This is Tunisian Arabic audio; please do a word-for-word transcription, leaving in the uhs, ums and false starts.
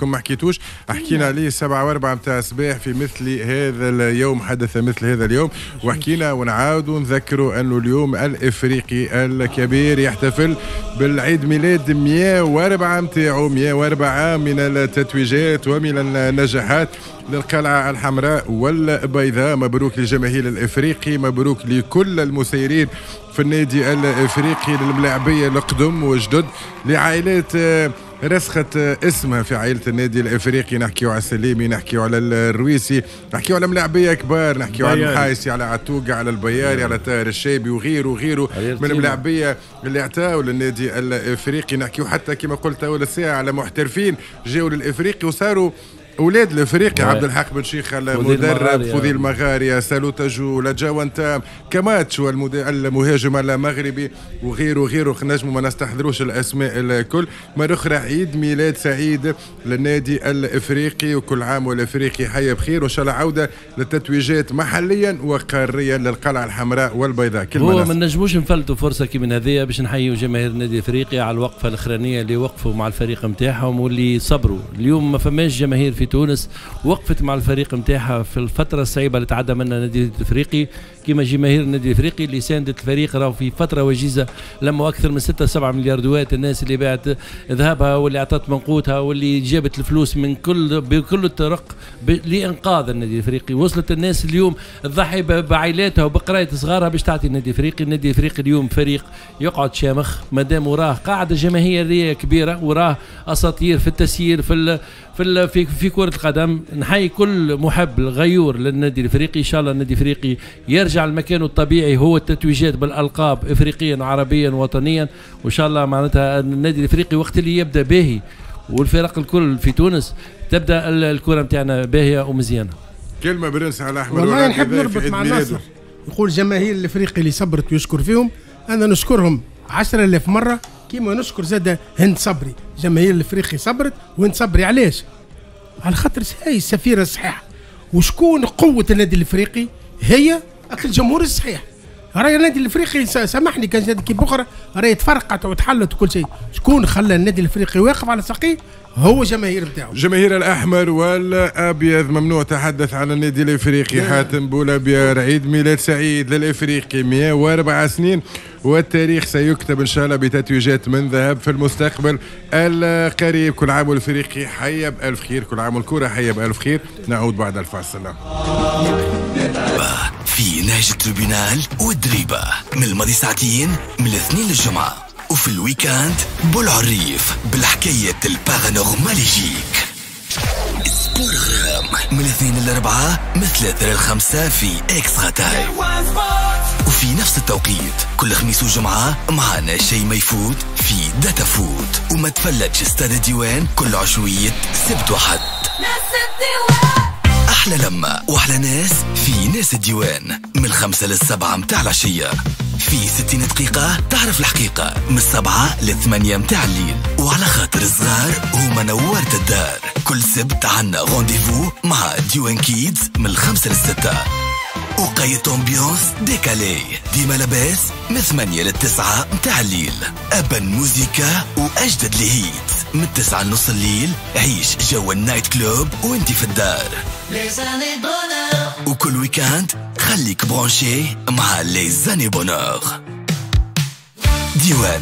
عندكم ما حكيتوش، حكينا عليه سبعة وأربعة متاع الصباح في مثل هذا اليوم، حدث مثل هذا اليوم وحكينا، ونعاودوا نذكروا أنه اليوم الإفريقي الكبير يحتفل بالعيد ميلاد مئة وأربعة متاعو، مئة وأربعة من التتويجات ومن النجاحات للقلعة الحمراء والبيضاء. مبروك لجماهير الإفريقي، مبروك لكل المسيرين في النادي الإفريقي، للملاعبية القدم وجدد، لعائلات رسخت اسمها في عائلة النادي الإفريقي. نحكيو على السليمي، نحكيو على الرويسي، نحكيو على ملاعبية كبار، نحكيو على المحايسي، على عتوقة، على البياري، على طاهر الشيبي وغيره وغيره من الملاعبية اللي اعطاو للنادي الإفريقي. نحكيو حتى كما قلت أول الساعة على محترفين جاوا للإفريقي وصاروا اولاد الافريقي، عبد الحق بن شيخ المدرب، فوزي المغارية، سالوتاجو، لاجاوانتام، كاماتشو المهاجم المغربي وغيره وغيره، نجموا ما نستحضروش الاسماء الكل. مرة اخرى عيد ميلاد سعيد للنادي الافريقي، وكل عام والافريقي حي بخير، وان شاء الله عوده للتتويجات محليا وقاريا للقلعه الحمراء والبيضاء. هو ما نجموش نفلتوا فرصة كي من هذه باش نحيوا جماهير النادي الافريقي على الوقفة الاخرانية اللي وقفوا مع الفريق نتاعهم واللي صبروا. اليوم ما فماش جماهير في تونس وقفت مع الفريق نتاعها في الفترة الصعيبة اللي تعدى منها النادي الافريقي كما جماهير النادي الافريقي اللي ساندت الفريق. راهو في فترة وجيزة لما أكثر من ستة سبعة مليار دوات، الناس اللي باعت ذهبها واللي اعطت من قوتها واللي جابت الفلوس من كل بكل الطرق لإنقاذ النادي الافريقي. وصلت الناس اليوم تضحي بعائلاتها وبقراية صغارها باش تعطي النادي الافريقي. النادي الافريقي اليوم فريق يقعد شامخ مادام وراه قاعدة جماهيرية كبيرة، وراه أساطير في التسيير في ال في ال في في كرة القدم. نحيي كل محب غيور للنادي الافريقي. ان شاء الله النادي الافريقي يرجع لمكانه الطبيعي هو التتويجات بالالقاب افريقيا وعربيا ووطنيا، وان شاء الله معناتها النادي الافريقي وقت اللي يبدا باهي والفرق الكل في تونس تبدا الكرة نتاعنا باهية ومزيانة. كلمة برنس على احمد، والله نحب نربط مع ناصر، يقول جماهير الافريقي اللي صبرت ويشكر فيهم، انا نشكرهم عشرة آلاف مرة كيما نشكر زاد هند صبري. جماهير الافريقي صبرت وهند صبري علاش؟ على خاطر هي السفيره الصحيحة. وشكون قوة النادي الافريقي؟ هي الجمهور الصحيح. راهي النادي الافريقي سامحني كان جات كيف اخرى راهي تفرقت وتحلت وكل شيء. شكون خلى النادي الافريقي واقف على ساقيه؟ هو جماهير نتاعو، جماهير الاحمر والابيض. ممنوع تحدث عن النادي الافريقي. حاتم بولابيار، عيد ميلاد سعيد للافريقي، مئة وأربعة سنين والتاريخ سيكتب ان شاء الله بتتويجات من ذهب في المستقبل القريب. كل عام والافريقي حي بالف خير، كل عام والكره حي بالف خير. نعود بعد الفاصل. في نهج ال tribunal والدريبه من الماضي ساعتين من الاثنين للجمعة، وفي ال week-end بولعريف بالحكاية ال paranormal يجيك. سبورغرام من الاثنين للأربعة من ثلاثة للخمسة في Extra Time، وفي نفس التوقيت كل خميس وجمعة معنا شيء ما يفوت في داتا فوت. وما تفلتش استاد الديوان كل عشوية سبت وحد. أحلى لمة وأحلى ناس في ناس الديوان من الخمسة للسبعة متاع العشية، في ستين دقيقة تعرف الحقيقة من السبعة للثمانية متاع الليل. وعلى خاطر الصغار هما نورت الدار، كل سبت عنا rendez-vous مع ديوان Kids من الخمسة للستة. وقيت ambiance décalée ديما لاباس من ثمانية للتسعة متاع الليل. أبن موزيكا وأجدد les hits من التسعة لنص الليل. عيش جو ال night club وانت في الدار. وكل week-end خليك branché مع les années bonheur. ديوان.